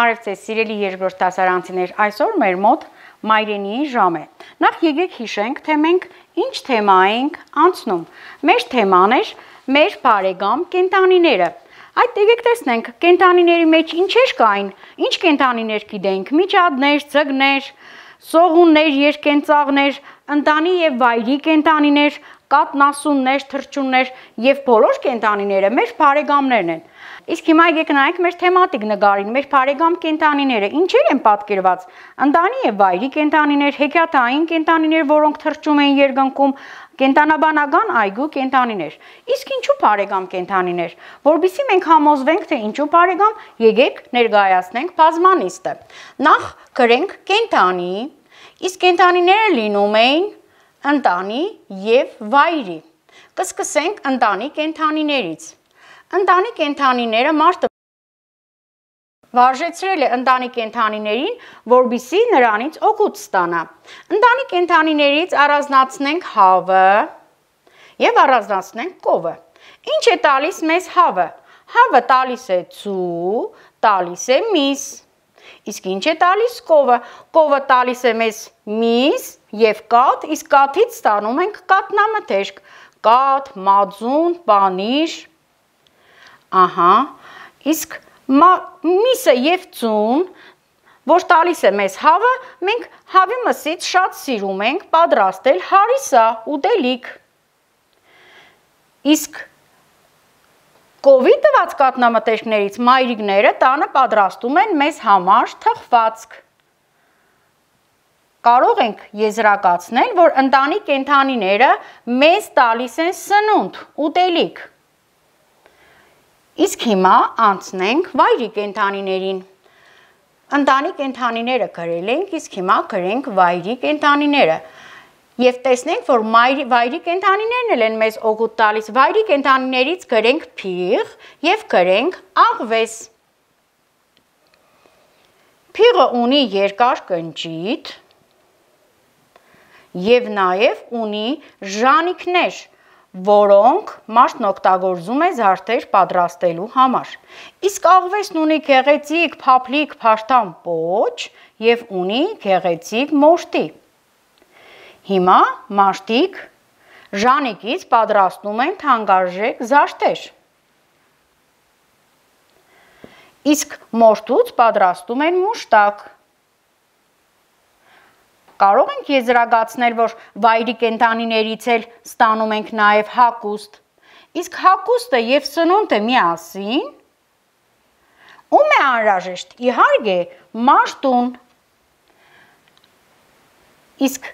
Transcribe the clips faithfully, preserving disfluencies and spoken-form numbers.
Բարև ձեզ սիրելի երկրորդ դասարանցիներ, այսօր մեր մոտ մայրենիի ժամ է։ Նախ եկեք հիշենք, թե մենք ինչ թեմա ենք անցնում։ Մեր թեման էր մեր բարեկամ կենդանիները։ Այդ եկեք տեսնենք, կենդանիների մեջ ինչեր կային, ինչ կենդանիներ գիտենք՝ միջատներ, ձկներ, սողուններ, երկենծաղներ, ընտանի եւ վայրի կենդանիներ, կատնասուններ, թռչուններ եւ բոլոր կենդանիները մեր բարեկամներն են։ Իսկ հիմա եկեք նայենք մեր թեմատիկ նկարին, մեր բարեկամ կենդանիները ինչեր են պատկերված։ Ընտանի եւ վայրի կենդանիներ, հեքիաթային կենդանիներ, որոնք թռչում են երկնքում, կենդանաբանական այգու կենդանիներ։ Իսկ ինչու բարեկամ կենդանիներ։ Որովհետեւ մենք համոզվենք, թե ինչու բարեկամ, եկեք ներկայացնենք բազմանիստը։ Նախ գրենք կենդանի, իսկ կենդանիները լինում էին ընտանի եւ վայրի։ Կսկսենք ընտանի կենդանիներից։ Ընտանի կենդանիները մարդը վարժեցրել է ընտանի կենդանիներին, որպեսզի նրանից օգուտ ստանա։ Ընտանի կենդանիներից առանձնացնենք հավը եւ առանձնացնենք կովը։ Ինչ է տալիս մեզ հավը։ Հավը տալիս է ցու, տալիս է միս։ Իսկ ինչ է տալիս կովը։ Կովը տալիս է մեզ միս եւ կաթ, իսկ կաթից ստանում ենք կատնամթերք։ Կաթ, մածուն, պանիր։ Ահա, իսկ միսը եւ ծուն, որ տալիս է մեզ հավը, մենք հավի մսից շատ սիրում ենք պատրաստել հարիսա, ուտելիք։ Իսկ կովի տված կատնամթերքներից մայրիկները տանը պատրաստում են մեզ համար թխվածք։ Կարող ենք եզրակացնել, որ ընտանի կենդանիները մեզ տալիս են սնունդ, ուտելիք։ Իսկ հիմա անցնենք վայրի կենդանիներին։ Ընտանի կենդանիները գրել ենք, իսկ հիմա գրենք վայրի կենդանիները։ Եվ տեսնենք, որ վայրի կենդանիներն են մեզ օգուտ տալիս։ Վայրի կենդանիներից գրենք փիղ եւ գրենք աղվես։ Փիղը ունի երկար կնճիտ եւ նաեւ ունի ժանիքներ, որոնք մարդն օգտագործում է զարդեր պատրաստելու համար։ Իսկ աղվեսն ունի գեղեցիկ, փափլիկ, փաշտամ պոչ եւ ունի գեղեցիկ մորթի։ Հիմա մարդիկ ժանիկից պատրաստում են թանկարժեք զարդեր։ Իսկ մորթուց պատրաստում են մուշտակ։ Կարող ենք եզրակացնել, որ վայրի կենդանիներից էլ ստանում ենք նաև հագուստ։ Իսկ հագուստը եւ սնունդը միասին ում է անհրաժեշտ։ Իհարկե, մարդուն։ Իսկ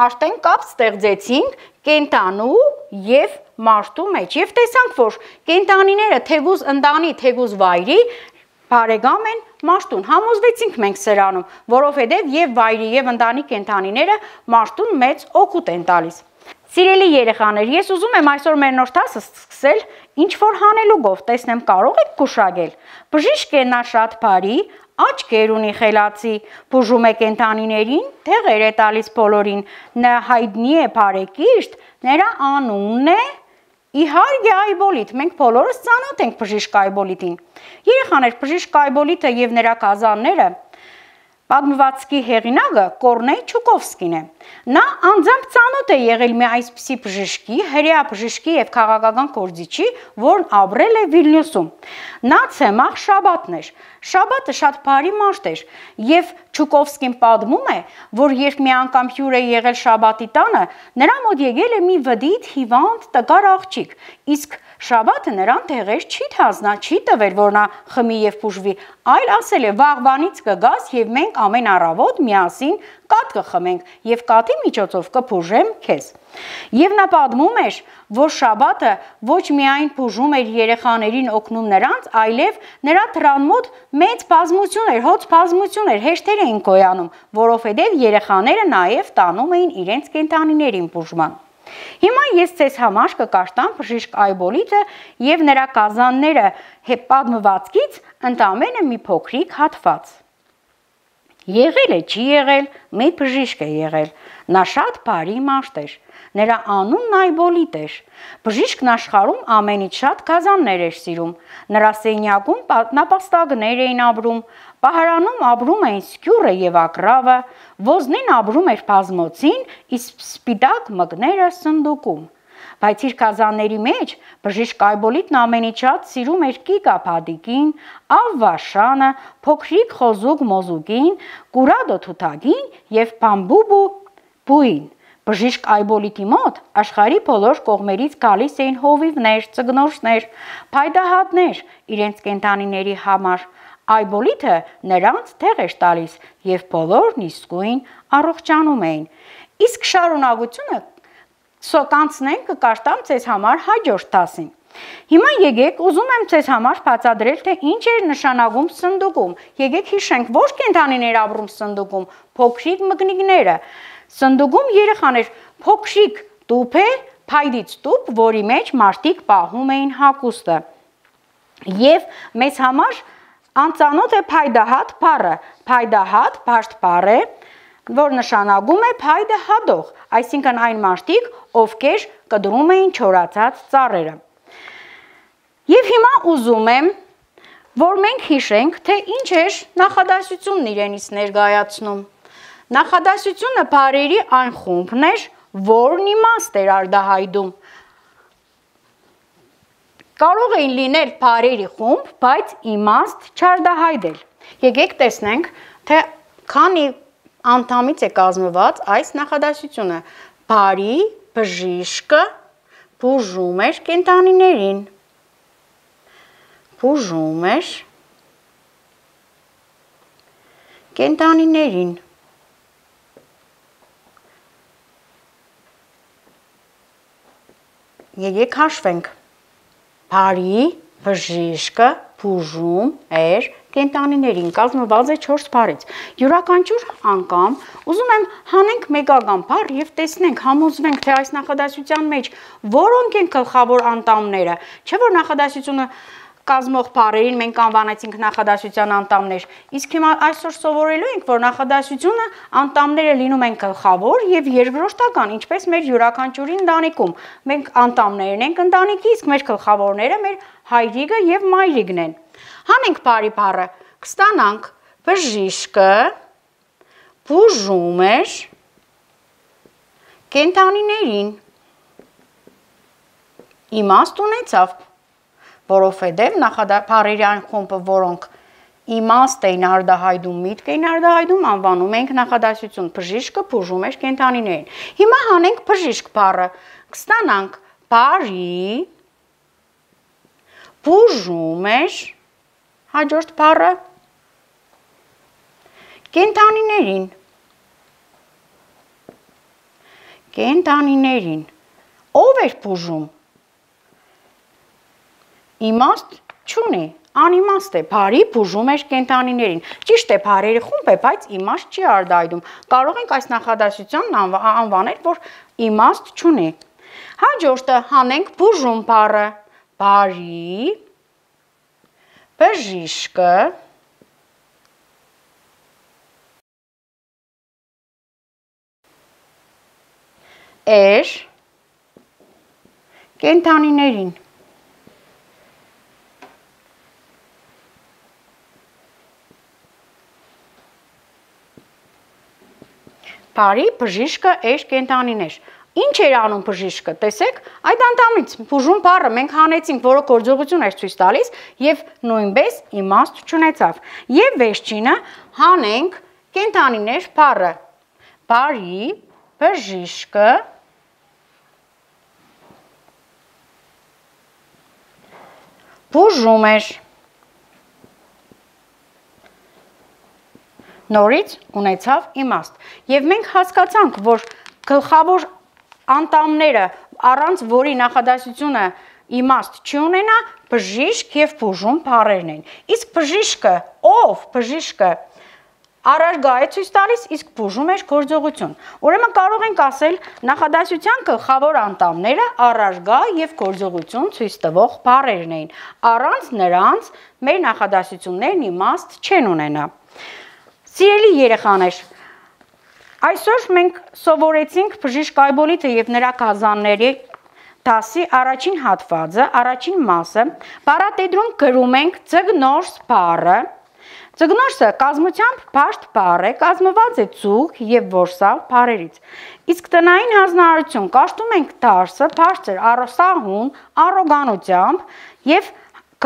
արդեն կապ ստեղծեցինք կենդանու եւ մարդու մեջ եւ տեսանք, որ կենդանիները թեգուզ ընտանի, թեգուզ վայրի բարեկամ են մարդուն։ Համոզվեցինք մենք սրանում, որովհետև եւ վայրի եւ ընտանի կենդանիները մարդուն մեծ օգուտ են տալիս։ Սիրելի երեխաներ, ես ուզում եմ այսօր մեր նոր դասը սկսել ինչ որ հանելուկով, տեսնեմ կարող եք գուշակել։ Բժիշկ է նա շատ բարի, աչքեր ունի խելացի, բուժում է կենդանիներին, դեղեր է տալիս բոլորին, նա հայտնի է բարեկիրթ, նրա անունն է Իհարկե Այբոլիթ, մենք բոլորս ծանոթ ենք բժիշկ Այբոլիթին։ Երեխաներ, բժիշկ Այբոլիթը եւ նրա կազանները պատմվածքի հեղինակը Կորնեյ Չուկովսկին է։ Նա անձամբ ծանոթ է եղել մի այսպիսի բժշկի, հրեա բժշկի եւ քաղաքական գործիչի, որն ապրել է Վիլնյուսում։ Նա Ցեմախ Շաբաթն էր։ Շաբաթը շատ բարի մարդ էր եւ Չուկովսկին պատմում է, որ երբ մի անգամ հյուր է եղել Շաբաթի տանը, նրա մոտ եկել է մի վդիտ հիվանդ տկար աղջիկ, իսկ Շաբաթը նրան դեղեր չի թազնա, չի տվել, որ նա խմի եւ բուժվի, այլ ասել է վաղվանից կգաս եւ մենք ամեն առավոտ միասին կաթ կխմենք եւ կաթի միջոցով կբուժեմ քեզ։ Եվ նա պատմում էր, որ Շաբաթը ոչ միայն բուժում էր երեխաներին օգնում նրանց, այլև նրա դրան մոտ մեծ բազմություն էր, հոծ բազմություն էր, հեշտեր էին գոյանում, որովհետեւ երեխաները նաեւ տանում էին իրենց կենդանիներին բուժման։ Հիմա ես ձեզ համար կկարտամ բժիշկ Այբոլիթը եւ նրա կազանները պատմվածքից ընդամենը մի փոքրիկ հատված։ Եղել է, չի եղել, մի բժիշկ է եղել, նա շատ բարի մարդ էր, նրա անունն Այբոլիթ էր, բժիշկն աշխարհում ամենից շատ գազաններ էր սիրում, նրա սենյակում նապաստակներ էին ապրում, Պահարանում ապրում էին սկյուրը եւ ակռավը, ոզնին ապրում էր բազմոցին, իսկ սպիտակ մկները սնդուկում։ Բայց իր կազանների մեջ բժիշկ Այբոլիտն ամենից շատ սիրում էր կիկապադիկին, ավվաշանը, փոքրիկ խոզուկ մոզուկին, կուրադո թութագին եւ բամբուբու բուին։ Բժիշկ Այբոլիտի մոտ աշխարհի բոլոր կողմերից գալիս էին հովիվներ, ծգնորսներ, փայդահատներ իրենց կենդանիների համար։ Այբոլիտը նրանց թեղ էր տալիս եւ բոլորն իսկույն առողջանում էին։ Իսկ շարունակությունը սոկանցնենք կկարտամ ձեզ համար հաջորդ դասին։ Հիմա եկեք ուզում եմ ձեզ համար բացատրել, թե ինչ էր նշանակում սնդուկում։ Եկեք հիշենք, ոչ կենդանիներ ապրում սնդուկում, փոքրիկ մկնիկները։ Սնդուկում երեխաներ փոքրիկ տուփ է, փայդից տուփ, որի մեջ մարդիկ պահում էին հագուստը։ Եվ մեզ համար անծանոթ է փայդահատ բառը։ Փայդահատ բարդ բառ է, որ նշանակում է փայդը հադող, այսինքն այն մարդիկ, ովքեր կտրում էին չորացած ծառերը։ Եվ հիմա ուզում եմ, որ մենք հիշենք, թե ինչ էր նախադասությունն իրենից ներկայացնում։ Նախադասությունը բառերի այն խումբն էր, որն իմաստ էր արտահայտում։ Կարող էին լինել բառերի խումբ, բայց իմաստ չարտահայտել։ Եկեք տեսնենք, թե քանի անդամից է կազմված այս նախադասությունը։ Բարի բժիշկը բուժում էր կենդանիներին։ Բուժում էր կենդանիներին։ Եկեք հաշվենք։ Բարի բժիշկը բուժում էր կենդանիներին, կազմված է չորս բառից։ Յուրաքանչյուր անգամ ուզում եմ հանենք մեկական բառ եւ տեսնենք, համոզվենք, թե այս նախադասության մեջ որոնք են գլխավոր անդամները, չէ՞ որ նախադասությունը կազմող բառերին մենք անվանեցինք նախադասության անդամներ։ Իսկ հիմա այսօր սովորելու ենք, որ նախադասությունը անդամները լինում են գլխավոր եւ երկրորդական, ինչպես մեր յուրաքանչյուրի ընտանիքում։ Մենք անդամներն ենք ընտանիքի, իսկ մեր գլխավորները մեր հայրիկը եւ մայրիկն են։ Հանենք բարի բառը, կստանանք բժիշկը բուժում էր կենդանիներին։ Իմաստ ունեցավ, որովհետև նախադասությունների այն խումբը, որոնք իմաստ էին արտահայտում, միտք էին արտահայտում, անվանում ենք նախադասություն։ Բժիշկը բուժում էր կենդանիներին։ Հիմա հանենք բժիշկ բառը, կստանանք բարի բուժում էր հաջորդ բառը կենդանիներին։ Կենդանիներին։ Ով էր բուժում։ Իմաստ չունի, անիմաստ է, բարի բուժում էր կենդանիներին։ Ճիշտ է, բառերի խումբ է, բայց իմաստ չի արտահայտում։ Կարող ենք այս նախադասությանն անվանել, որ իմաստ չունի։ Հաջորդը հանենք բուժում բառը, բարի բժիշկը էր կենդանիներին։ Բարի բժիշկը էր կենդանիներ։ Ինչ էր անում բժիշկը, տեսեք, այդ անդամից բուժում բառը մենք հանեցինք, որը գործողություն էր ցույց տալիս եւ նույնպես իմաստ չունեցավ։ Եվ վերջինը հանենք կենդանիներ բառը։ Բարի բժիշկը բուժում էր։ Նորից ունեցավ իմաստ։ Եվ մենք հասկացանք, որ գլխավոր անդամները, առանց որի նախադասությունը իմաստ չունենա, բժիշկ եւ բուժում բառերն են։ Իսկ բժիշկը, ով բժիշկը առարգա է ցույց տալիս, իսկ բուժում էր գործողություն։ Ուրեմն կարող ենք ասել նախադասության գլխավոր անդամները առարգա եւ գործողություն ցույց տվող բառերն էին։ Առանց նրանց մեր նախադասություններն իմաստ չեն ունենա։ Սիրելի երեխաներ, այսօր մենք սովորեցինք բժիշկ Այբոլիտը եւ նրա կազանների դասի առաջին հատվածը, առաջին մասը։ Բառատետրում գրում ենք ձգնորս բառը։ Ծգնորսը կազմությամբ բարդ բառ է, կազմված է ծուղ և որսալ բառերից։ Իսկ տնային հանձնարարություն կաշտում ենք դարսը բարձր սահուն առոգանությամբ և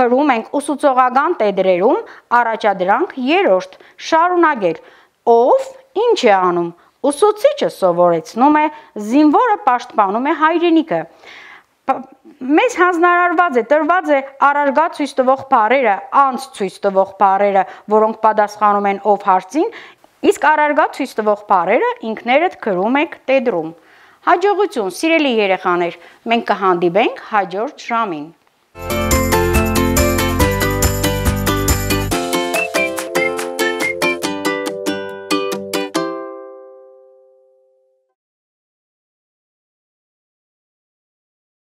գրում ենք ուսուցողական տետրերում առաջադրանք երրորդ շարունակել, ով ինչ է անում, ուսուցիչը սովորեցնում է, զինվորը պաշտպանում է հայրենիքը։ Մեզ հանձնարարված է, տրված է առարգա ցույց տվող բառերը, անց ցույց տվող բառերը, որոնք պատասխանում են ով հարցին, իսկ առարգա ցույց տվող բառերը ինքներդ գրում եք տետրում։ Հաջողություն, սիրելի երեխաներ, մենք կհանդիպենք հաջորդ ժամին։